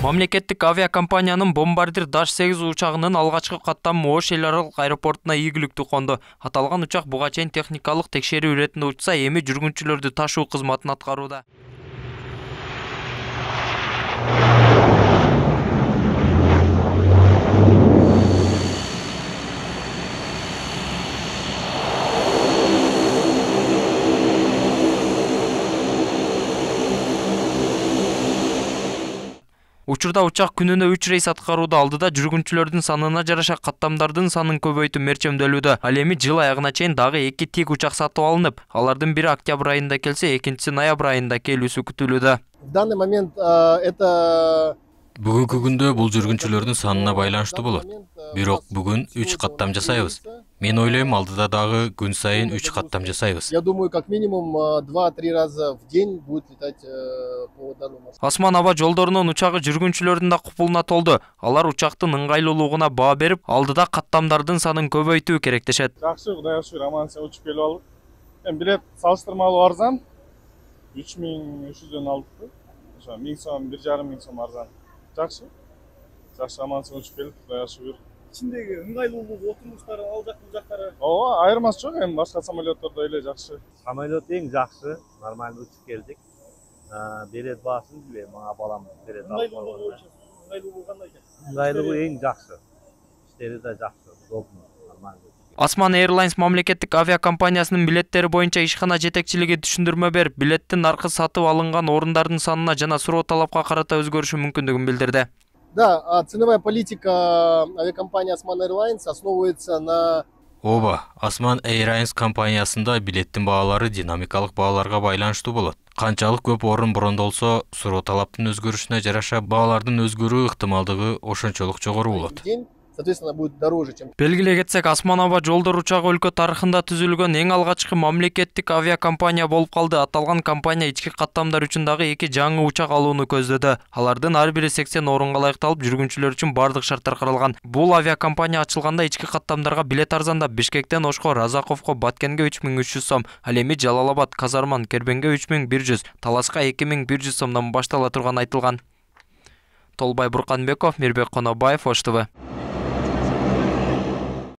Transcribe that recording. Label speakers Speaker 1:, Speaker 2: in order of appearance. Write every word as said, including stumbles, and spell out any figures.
Speaker 1: Мамлекеттик авиакомпаниянын Бомбардир Даш сегиз учагынын алгачкы каттамы Ош эл аралык аэропортуна ийгиликтүү конду. Аталган учак буга чейин техникалык текшерүү иретинде учса, эми жүргүнчүлөрдү ташуу кызматын аткарууда. Учурда учак күнүнө үч рейс аткарууда. Алдыда жүргүнчүлөрдүн санына жараша каттамдардын санын көбөйтүү мерчемделүүдө. Ал эми жыл аягына чейин дагы эки тик учак сатып алынып, алардын бири октябрь айында келсе, экинчиси ноябрь айында келүүсү күтүлүүдө.
Speaker 2: В данный момент это
Speaker 3: Бүгүнкү күндө бул жүргүнчүлөрдүн санына байланыштуу болот. Бирок бүгүн үч каттам жасайбыз. Мен ойлойм, алдыда дагы күн сайын үч каттам жасайбыз.
Speaker 2: Я думаю, как минимум два-три раза в день будет летать по данному.
Speaker 1: Асман аба жолдорунун учагы жүргүнчүлөрдүн да купулуна толду. Алар учактын ыңгайлуулугуна баа берип, алдыда каттамдардын санын көбөйтүү керек дешет.
Speaker 4: Жакшы, Кудайга шүгүр, аман эсен учуп келип алдык. Эми билет салыштырмалуу арзан. үч миң үч жүздөн алдык. Ошо миң сом, бир жарым миң сом арзан. Жакшы. Жакшы, аман эсен учуп келдик, Кудайга шүгүр.
Speaker 5: Ичиндеги ыңгайлуулугу, отурмуштары, ал жак бул жактары.
Speaker 4: Ооба, айырмасы жок, эми башка самолеттордой эле жакшы.
Speaker 6: Самолет эң жакшы, нормально учуп келдик. Билет баасын билбейм, мага балам билет алып койгон.
Speaker 5: Ыңгайлуулугу кандай экен?
Speaker 6: Ыңгайлуулугу эң жакшы. Иштери да жакшы, удобно, нормально.
Speaker 1: Асман Airlines мамлекеттик авиакомпаниясынын билеттери боюнча ишкана жетекчилиги түшүндүрмө берип, билеттин наркы сатып алынган орундардын санына жана суроо талапка карата өзгөрүшү мүмкүндүгүн билдирди.
Speaker 2: Да, ценовая политика авиакомпании Osman Airlines основывается на...
Speaker 3: Ооба, Osman Airlines компаниясында билеттин баалары динамикалык бааларга байланыштуу болот. Канчалык көп орун брондолсо, суроо талаптын өзгөрүшүнө жараша баалардын өзгөрүү ыктымалдыгы ошончолук жогору болот.
Speaker 2: Соответственно, будет дороже, чем...
Speaker 1: Белгилей кетсек, Асман аба жолдор учагы өлкө тарыхында түзүлгөн эң алгачкы мамлекеттик авиакомпания болуп калды. Аталган компания ички каттамдар үчүн дагы эки жаңы учак алууну көздөдү. Алардын ар бири сексен орунга ылайыкталып, жүргүнчүлөр үчүн бардык шарттар каралган. Бул авиакомпания ачылганда ички каттамдарга билет арзандап, Бишкектен Ошко, Разаковго, Баткенге үч миң үч жүз сом, ал эми Жалалабад, Казарман, Кербенге үч миң бир жүз, Таласка эки миң бир жүз сомдон баштала турганы айтылган. Толбай Бурканбеков, Мирбек Конобаев, Ош Т В.